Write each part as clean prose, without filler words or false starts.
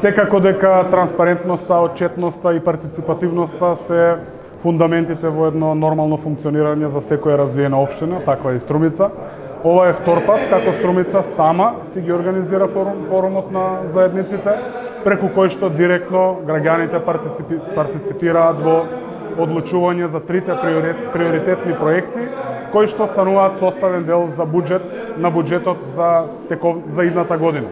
Секако дека транспарентноста, отчетноста и партиципативноста се фундаментите во едно нормално функционирање за секоја развиена општина, таква и Струмица. Ова е втор пат како Струмица сама си ги организира форумот на заедниците, преку кој што директно граѓаните партиципираат во одлучување за трите приоритетни проекти, кои што стануваат составен дел за буџетот за идната година.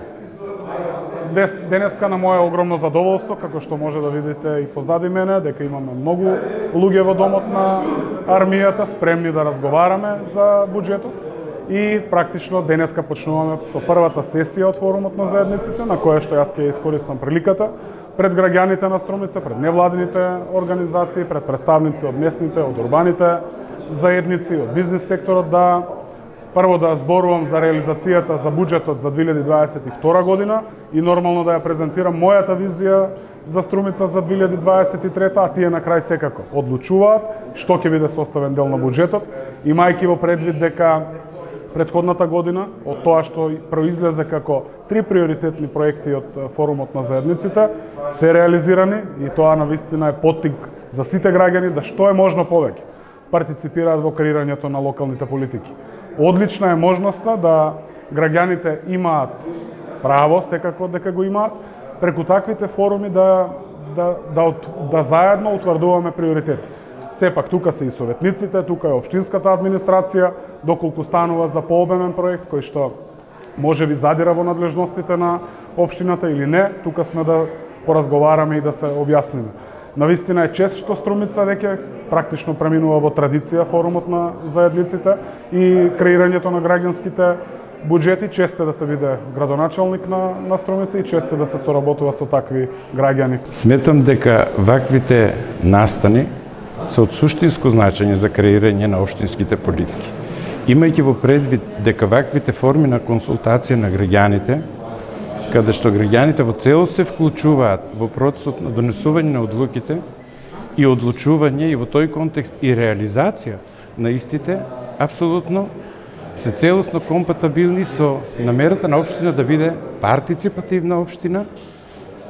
Денеска на моје огромно задоволство, како што може да видите и позади мене, дека имаме многу луѓе во домот на армијата спремни да разговараме за буџетот. И практично денеска почнуваме со првата сесија од форумот на заедниците, на која што јас ќе искористам приликата пред граѓаните на Струмица, пред невладините организации, пред представници од местните, од урбаните заедници, од бизнис секторот, да прво да зборувам за реализацијата за буџетот за 2022 година и нормално да ја презентирам мојата визија за Струмица за 2023, а тие на крај секако одлучуваат што ќе биде составен дел на буџетот, имајќи во предвид дека претходната година, од тоа што произлезе како три приоритетни проекти од форумот на заедниците, се реализирани и тоа навистина е поттик за сите граѓани да што е можно повеќе партиципираат во креирањето на локалните политики. Одлична е можноста да граѓаните имаат право, секако дека го имаат, преку таквите форуми да заедно утврдуваме приоритети. Сепак тука се и советниците, тука е општинската администрација, доколку станува за пообемен проект кој што може би задира во надлежностите на општината или не, тука сме да поразговараме и да се објасниме. Навистина е чест што Струмица веќе практично преминува во традиција форумот на заедниците и креирањето на граѓанските буџети, чест е да се биде градоначалник на Струмица и чест е да се соработува со такви граѓани. Сметам дека ваквите настани се од суштинско значење за креирање на општинските политики. Имајќи во предвид дека ваквите форми на консултација на граѓаните, каде што граѓаните во целост се вклучуваат во процесот на донесување на одлуките и одлучување и во тој контекст и реализација на истите, апсолутно се целосно компатабилни со намерата на општина да биде партиципативна општина,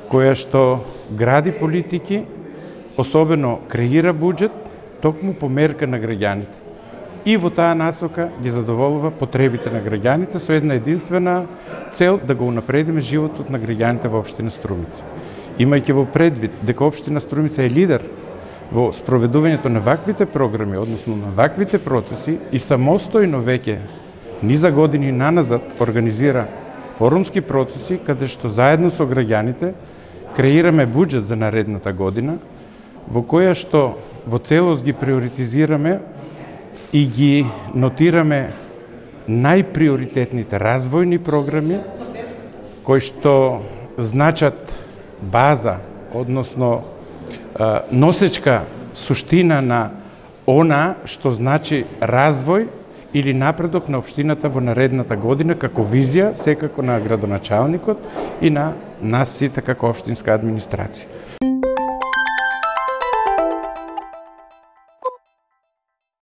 која што гради политики, особено креира буџет, токму по мерка на граѓаните. И во таа насока ги задоволува потребите на граѓаните со една единствена цел да го унапредиме животот на граѓаните во општина Струмица. Имајќи во предвид дека општина Струмица е лидер во спроведувањето на ваквите програми, односно на ваквите процеси и самостојно веќе низа години наназад организира форумски процеси каде што заедно со граѓаните креираме буџет за наредната година, во која што во целост ги приоритизираме и ги нотираме најприоритетните развојни програми кои што значат база, односно носечка суштина на она што значи развој или напредок на општината во наредната година како визија секако на градоначалникот и на нас сите како општинска администрација.